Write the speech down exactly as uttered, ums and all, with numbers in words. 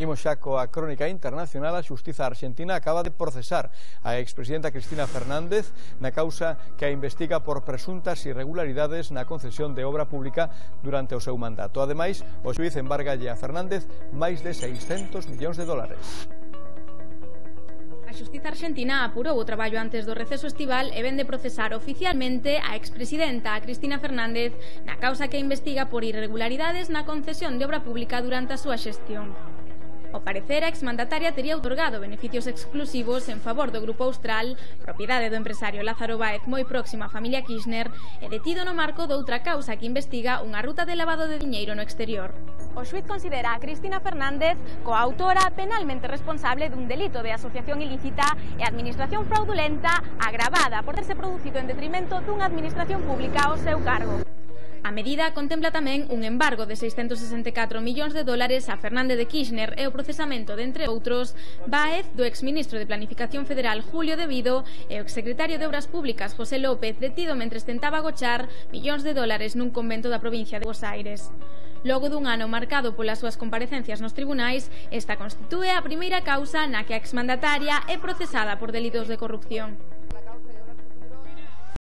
Imos xa coa crónica internacional. A xustiza argentina acaba de procesar a expresidenta Cristina Fernández na causa que a investiga por presuntas irregularidades na concesión de obra pública durante o seu mandato. Ademais, o xuíz embargalle a Fernández máis de seiscentos millóns de dólares. A xustiza argentina apurou o traballo antes do receso estival e vende procesar oficialmente a expresidenta Cristina Fernández na causa que investiga por irregularidades na concesión de obra pública durante a súa xestión. Ao parecer, a exmandataria tería outorgado beneficios exclusivos en favor do Grupo Austral, propiedade do empresario Lázaro Báez moi próximo á familia Kirchner, e detido no marco doutra causa que investiga unha ruta de lavado de diñeiro no exterior. O xuíz considera a Cristina Fernández coautora penalmente responsable dun delito de asociación ilícita e administración fraudulenta agravada por terse producido en detrimento dunha administración pública ao seu cargo. A medida contempla tamén un embargo de seiscentos sesenta e catro millóns de dólares a Fernández de Kirchner e o procesamento de, entre outros, Báez, do exministro de Planificación Federal Julio De Vido e o exsecretario de Obras Públicas José López, detido mentres tentaba agochar millóns de dólares nun convento da provincia de Buenos Aires. Logo dun ano marcado polas súas comparecencias nos tribunais, esta constitúe a primeira causa na que a exmandataria é procesada por delitos de corrupción.